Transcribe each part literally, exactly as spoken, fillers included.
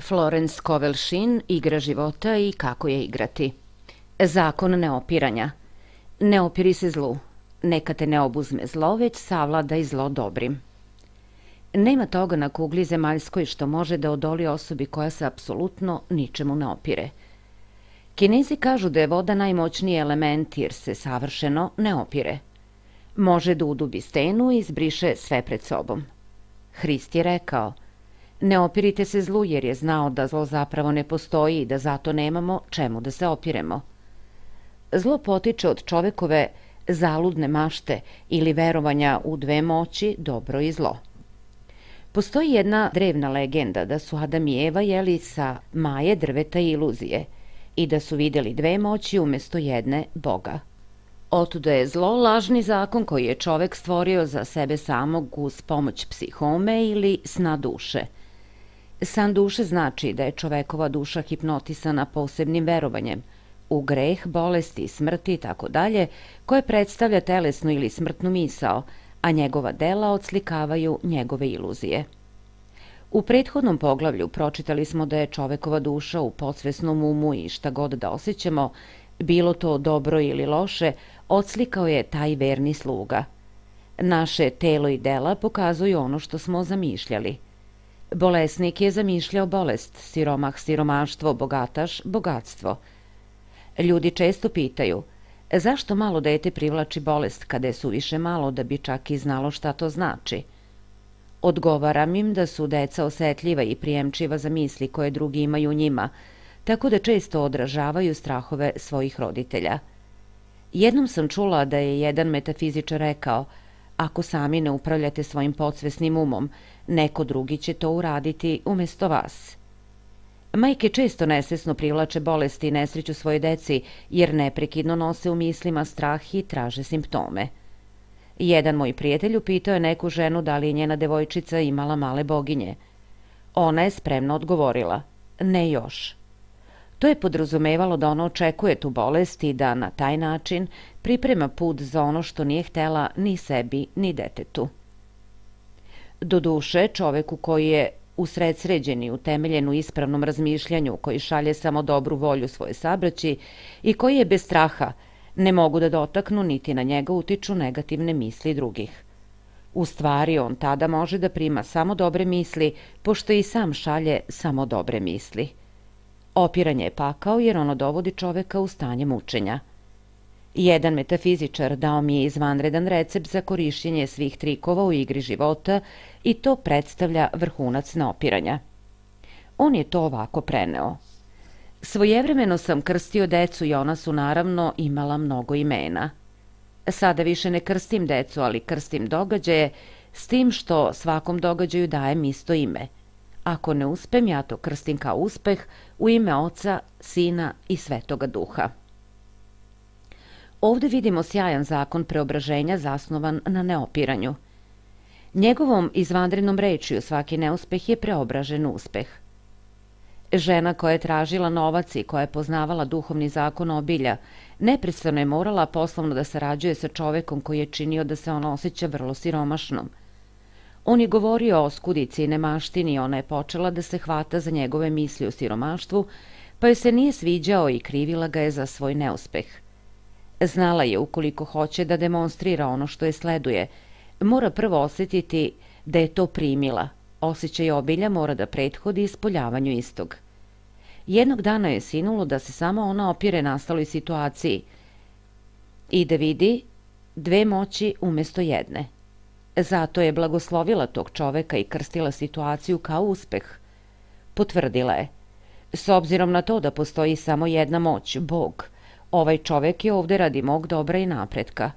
Florence Scovel Shinn, Igra života i kako je igrati. Zakon neopiranja. Ne opiri se zlu. Neka te ne obuzme zlo, već savladaj zlo dobrim. Nema toga na kugli zemaljskoj što može da odoli osobi koja se apsolutno ničemu ne opire. Kinezi kažu da je voda najmoćniji element jer se savršeno ne opire. Može da udubi stenu i izbriše sve pred sobom. Hrist je rekao: ne opirite se zlu jer je znao da zlo zapravo ne postoji i da zato nemamo čemu da se opiremo. Zlo potiče od čovekove zaludne mašte ili verovanja u dve moći, dobro i zlo. Postoji jedna drevna legenda da su Adam i Eva jeli sa maje drveta i iluzije i da su vidjeli dve moći umjesto jedne Boga. Otuda je zlo lažni zakon koji je čovek stvorio za sebe samog uz pomoć psihome ili sna duše. San duše znači da je čovekova duša hipnotisana posebnim verovanjem u greh, bolesti, smrti i tako dalje, koje predstavlja telesnu ili smrtnu misao, a njegova dela odslikavaju njegove iluzije. U prethodnom poglavlju pročitali smo da je čovekova duša u podsvesnom umu i šta god da osjećamo, bilo to dobro ili loše, odslikao je taj verni sluga. Naše telo i dela pokazuju ono što smo zamišljali. Bolesnik je zamišljao bolest, siromah siromaštvo, bogataš bogatstvo. Ljudi često pitaju: zašto malo dete privlači bolest kada je suviše malo da bi čak i znalo šta to znači? Odgovaram im da su deca osetljiva i prijemčiva za misli koje drugi imaju u njima, tako da često odražavaju strahove svojih roditelja. Jednom sam čula da je jedan metafizičar rekao: ako sami ne upravljate svojim podsvesnim umom, neko drugi će to uraditi umjesto vas. Majke često nesvesno privlače bolesti i nesreću svoje deci jer neprekidno nose u mislima strah i traže simptome. Jedan moj prijatelj upitao je neku ženu da li je njena devojčica imala male boginje. Ona je spremno odgovorila: ne još. To je podrazumevalo da ona očekuje tu bolest i da na taj način priprema put za ono što nije htela ni sebi ni detetu. Doduše, čoveku koji je usredsređen i utemeljen u ispravnom razmišljanju, koji šalje samo dobru volju svoje sabraći i koji je bez straha, ne mogu da dotaknu niti na njega utiču negativne misli drugih. U stvari, on tada može da prima samo dobre misli, pošto i sam šalje samo dobre misli. Opiranje je pakao jer ono dovodi čoveka u stanje mučenja. Jedan metafizičar dao mi je izvanredan recept za korišćenje svih trikova u igri života i to predstavlja vrhunac neopiranja. On je to ovako preneo: svojevremeno sam krstio decu i ona su naravno imala mnogo imena. Sada više ne krstim decu, ali krstim događaje, s tim što svakom događaju dajem isto ime. Ako ne uspem, ja to krstim kao uspeh u ime Oca, Sina i Svetoga Duha. Ovdje vidimo sjajan zakon preobraženja zasnovan na neopiranju. Njegovom izvanrednom rečju svaki neuspeh je preobražen uspeh. Žena koja je tražila novac i koja je poznavala duhovni zakon obilja, neprestano je morala poslovno da sarađuje sa čovekom koji je činio da se ona osjeća vrlo siromašnom. On je govorio o skudici i nemaštini i ona je počela da se hvata za njegove misli o siromaštvu, pa joj se nije sviđao i krivila ga je za svoj neuspeh. Znala je, ukoliko hoće da demonstrira ono što je sleduje, mora prvo osjetiti da je to primila. Osjećaj obilja mora da prethodi ispoljavanju istog. Jednog dana je sinulo da se samo ona opire nastaloj situaciji i da vidi dve moći umjesto jedne. Zato je blagoslovila tog čoveka i krstila situaciju kao uspeh. Potvrdila je: s obzirom na to da postoji samo jedna moć, Bog, ovaj čovek je ovde radi mog dobra i napretka.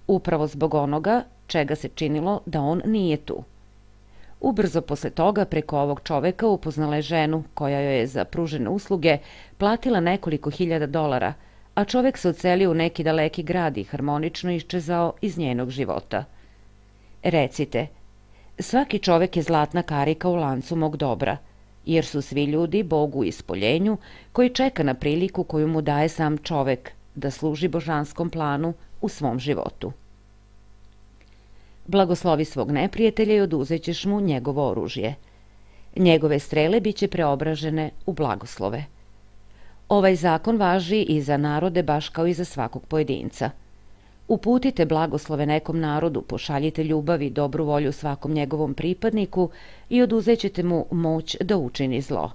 Upravo zbog onoga čega se činilo da on nije tu. Ubrzo posle toga preko ovog čoveka upoznala je ženu koja joj je za pružene usluge platila nekoliko hiljada dolara, a čovek se odselio u neki daleki grad i harmonično iščezao iz njenog života. Recite: svaki čovek je zlatna karika u lancu mog dobra, jer su svi ljudi Bogu u ispoljenju koji čeka na priliku koju mu daje sam čovek da služi božanskom planu u svom životu. Blagoslovi svog neprijatelja i oduzećeš mu njegovo oružje. Njegove strele biće preobražene u blagoslove. Ovaj zakon važi i za narode baš kao i za svakog pojedinca. Uputite blagoslove nekom narodu, pošaljite ljubav i dobru volju svakom njegovom pripadniku i oduzećete mu moć da učini zlo.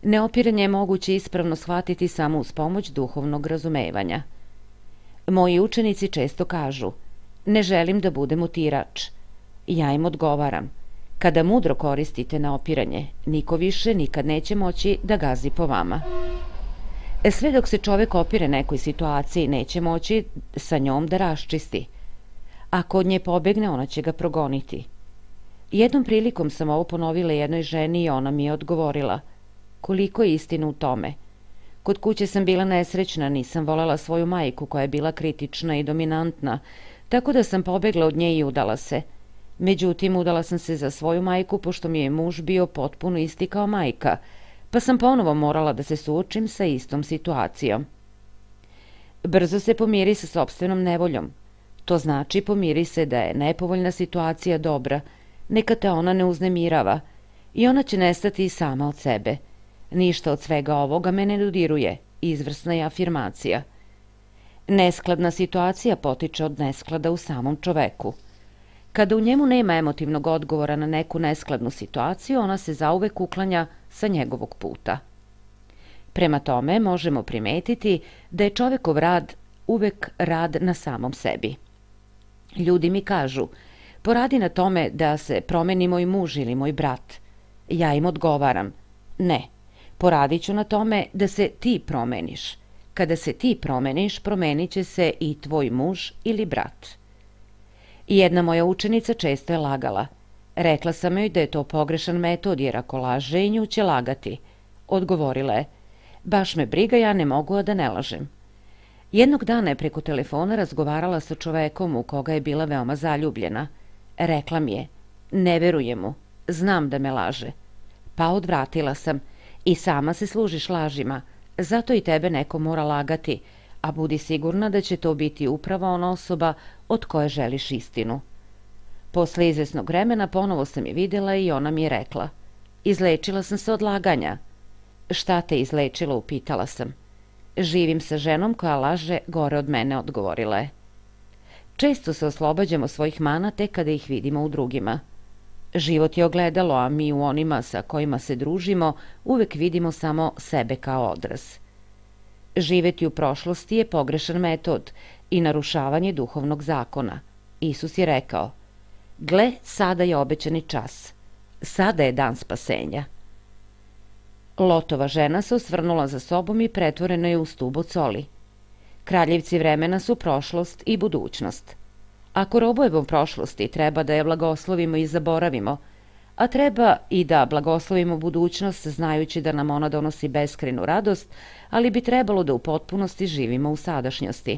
Neopiranje je moguće ispravno shvatiti samo uz pomoć duhovnog razumevanja. Moji učenici često kažu: ne želim da budem utirač. Ja im odgovaram: kada mudro koristite neopiranje, niko više nikad neće moći da gazi po vama. Sve dok se čovek opire nekoj situaciji, neće moći sa njom da raščisti. Ako od nje pobegne, ona će ga progoniti. Jednom prilikom sam ovo ponovila jednoj ženi i ona mi je odgovorila: koliko je istina u tome. Kod kuće sam bila nesrećna, nisam volela svoju majku koja je bila kritična i dominantna, tako da sam pobegla od nje i udala se. Međutim, udala sam se za svoju majku, pošto mi je muž bio potpuno isti kao majka, pa sam ponovo morala da se suočim sa istom situacijom. Brzo se pomiri sa sopstvenom nevoljom. To znači pomiri se da je nepovoljna situacija dobra, neka te ona ne uznemirava i ona će nestati i sama od sebe. Ništa od svega ovoga me ne dodiruje, izvrsna je afirmacija. Neskladna situacija potiče od nesklada u samom čoveku. Kada u njemu nema emotivnog odgovora na neku neskladnu situaciju, ona se zauvek uklanja sa njegovog puta. Prema tome, možemo primetiti da je čovekov rad uvek rad na samom sebi. Ljudi mi kažu: poradi na tome da se promeni moj muž ili moj brat. Ja im odgovaram: ne, poradit ću na tome da se ti promeniš. Kada se ti promeniš, promenit će se i tvoj muž ili brat. Jedna moja učenica često je lagala. Rekla sam joj da je to pogrešan metod, jer ako laže i nju će lagati. Odgovorila je: baš me briga, ja ne mogu a da ne lažem. Jednog dana je preko telefona razgovarala sa čovekom u koga je bila veoma zaljubljena. Rekla mi je: ne verujem mu, znam da me laže. Pa odvratila sam: i sama se služiš lažima, zato i tebe neko mora lagati, a budi sigurna da će to biti upravo ona osoba od koje želiš istinu. Posle izvesnog vremena ponovo sam je videla i ona mi je rekla: izlečila sam se od laganja. Šta te izlečilo, upitala sam. Živim sa ženom koja laže gore od mene, odgovorila je. Često se oslobađamo svojih mana tek kada ih vidimo u drugima. Život je ogledalo, a mi u onima sa kojima se družimo uvek vidimo samo sebe kao odraz. Živeti u prošlosti je pogrešan metod i narušavanje duhovnog zakona. Isus je rekao: gle, sada je obećani čas. Sada je dan spasenja. Lotova žena se osvrnula za sobom i pretvorena je u stub od soli. Kraljevci vremena su prošlost i budućnost. Ako robujemo prošlosti, treba da je blagoslovimo i zaboravimo, a treba i da blagoslovimo budućnost znajući da nam ona donosi beskrajnu radost, ali bi trebalo da u potpunosti živimo u sadašnjosti.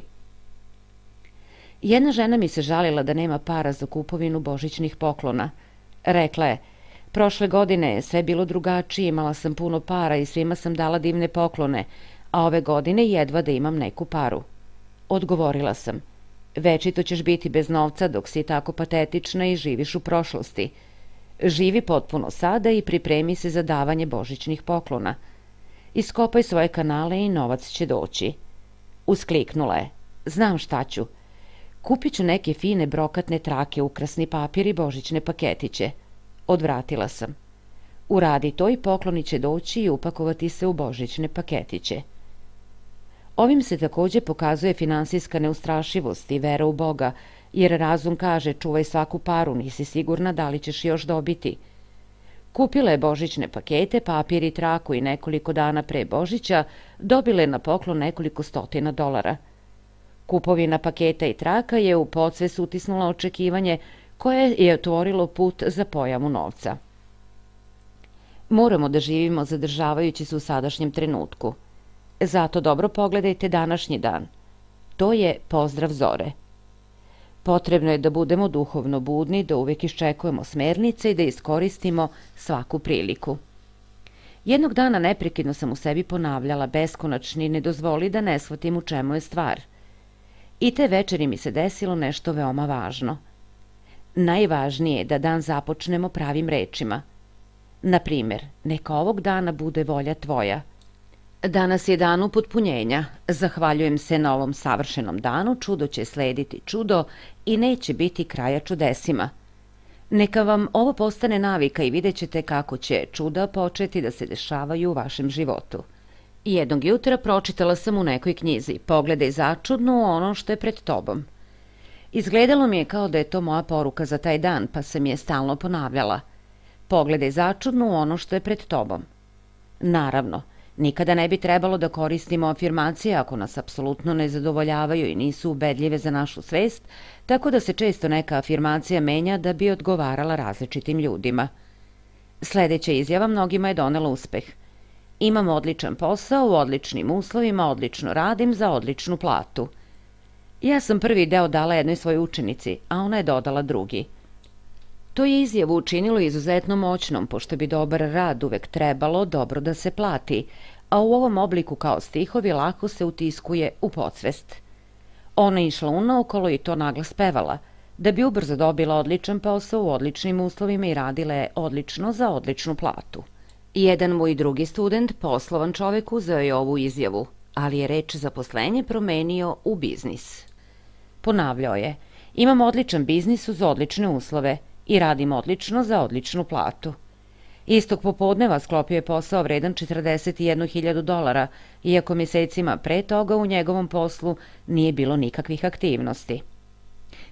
Jedna žena mi se žalila da nema para za kupovinu božićnih poklona. Rekla je: prošle godine je sve bilo drugačije, imala sam puno para i svima sam dala divne poklone, a ove godine jedva da imam neku paru. Odgovorila sam: večito ćeš biti bez novca dok si tako patetična i živiš u prošlosti. Živi potpuno sada i pripremi se za davanje božićnih poklona. Iskopaj svoje kanale i novac će doći. Uskliknula je: znam šta ću. Kupit ću neke fine brokatne trake, ukrasni papir i božićne paketiće. Odvratila sam. Uradi to i pokloni će doći i upakovati se u božićne paketiće. Ovim se takođe pokazuje finansijska neustrašivost i vera u Boga, jer razum kaže: čuvaj svaku paru, nisi sigurna da li ćeš još dobiti. Kupila je božićne pakete, papir i traku i nekoliko dana pre Božića dobila je na poklon nekoliko stotina dolara. Kupovina paketa i traka je u podsvest utisnula očekivanje koje je otvorilo put za pojavu novca. Moramo da živimo zadržavajući se u sadašnjem trenutku. Zato dobro pogledajte današnji dan. To je pozdrav zore. Potrebno je da budemo duhovno budni, da uvek iščekujemo smernice i da iskoristimo svaku priliku. Jednog dana neprekidno sam u sebi ponavljala: beskonačni, ne dozvoli da ne shvatim u čemu je stvar. I te večeri mi se desilo nešto veoma važno. Najvažnije je da dan započnemo pravim rečima. Na primer, neka ovog dana bude volja tvoja. Danas je dan upotpunjenja. Zahvaljujem se na ovom savršenom danu, čudo će slediti čudo i neće biti kraja čudesima. Neka vam ovo postane navika i vidjet ćete kako će čuda početi da se dešavaju u vašem životu. Jednog jutra pročitala sam u nekoj knjizi: pogledaj začudno ono što je pred tobom. Izgledalo mi je kao da je to moja poruka za taj dan, pa sam je stalno ponavljala. Pogledaj začudno ono što je pred tobom. Naravno, nikada ne bi trebalo da koristimo afirmacije ako nas apsolutno ne zadovoljavaju i nisu ubedljive za našu svest, tako da se često neka afirmacija menja da bi odgovarala različitim ljudima. Sledeća izjava mnogima je donela uspeh. Imam odličan posao, u odličnim uslovima, odlično radim za odličnu platu. Ja sam prvi deo dala jednoj svojoj učenici, a ona je dodala drugi. To je izjavu učinilo izuzetno moćnom, pošto bi dobar rad uvek trebalo dobro da se plati, a u ovom obliku kao stihovi lako se utiskuje u podsvest. Ona je išla unaokolo i to naglas pevala, da bi ubrzo dobila odličan posao u odličnim uslovima i radila je odlično za odličnu platu. Jedan moj drugi student, poslovan čovek, uzeo je ovu izjavu, ali je reč zaposlenje promenio u biznis. Ponavljao je: imam odličan biznis uz odlične uslove i radim odlično za odličnu platu. Istog popodneva sklopio je posao vredan četrdeset jednu hiljadu dolara, iako mesecima pre toga u njegovom poslu nije bilo nikakvih aktivnosti.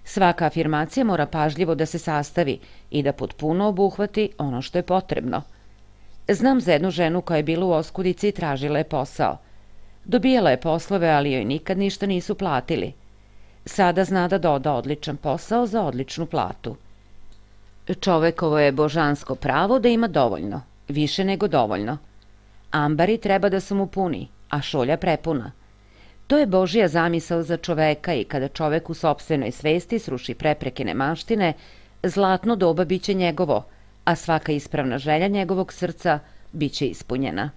Svaka afirmacija mora pažljivo da se sastavi i da potpuno obuhvati ono što je potrebno. Znam za jednu ženu koja je bila u oskudici i tražila je posao. Dobijala je poslove, ali joj nikad ništa nisu platili. Sada zna da doda odličan posao za odličnu platu. Čovekovo je božansko pravo da ima dovoljno, više nego dovoljno. Ambari treba da su mu puni, a šolja prepuna. To je Božija zamisao za čoveka i kada čovek u sopstvenoj svesti sruši prepreke nemaštine, zlatno doba biće njegovo, a svaka ispravna želja njegovog srca biće ispunjena.